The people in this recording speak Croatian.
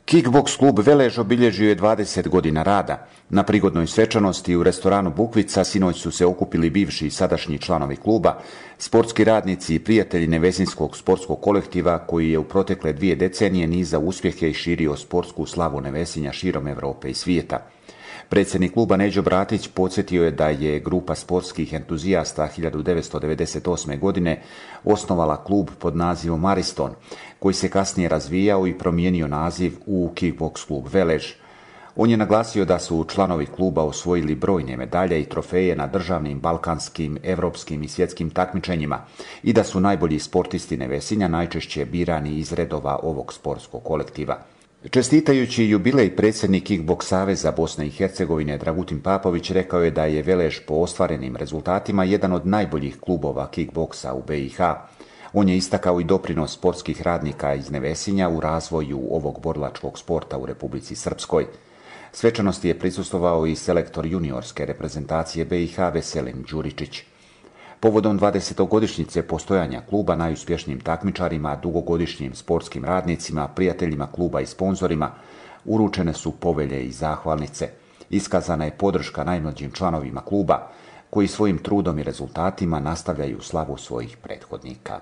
Kickboks klub Velež obilježio je 20 godina rada. Na prigodnoj svečanosti u restoranu Bukvica sinoć su se okupili bivši i sadašnji članovi kluba, sportski radnici i prijatelji Nevesinskog sportskog kolektiva koji je u protekle 2 decenije nizao uspjehe i širio sportsku slavu Nevesinja širom Europe i svijeta. Predsjednik kluba Neđo Bratić podsjetio je da je grupa sportskih entuzijasta 1998. godine osnovala klub pod nazivom Ariston, koji se kasnije razvijao i promijenio naziv u Kickboks klub Velež. On je naglasio da su članovi kluba osvojili brojne medalje i trofeje na državnim, balkanskim, europskim i svjetskim takmičenjima i da su najbolji sportisti Nevesinja najčešće birani iz redova ovog sportskog kolektiva. Čestitajući jubilej, predsjednik Kickboks saveza Bosne i Hercegovine Dragutin Papović rekao je da je Velež po ostvarenim rezultatima jedan od najboljih klubova kickboksa u BiH. On je istakao i doprinos sportskih radnika iz Nevesinja u razvoju ovog borilačkog sporta u Republici Srpskoj. Svečanosti je prisustvovao i selektor juniorske reprezentacije BiH Veselin Đuričić. Povodom 20-godišnjice postojanja kluba najuspješnijim takmičarima, dugogodišnjim sportskim radnicima, prijateljima kluba i sponzorima uručene su povelje i zahvalnice. Iskazana je podrška najmlađim članovima kluba koji svojim trudom i rezultatima nastavljaju slavu svojih prethodnika.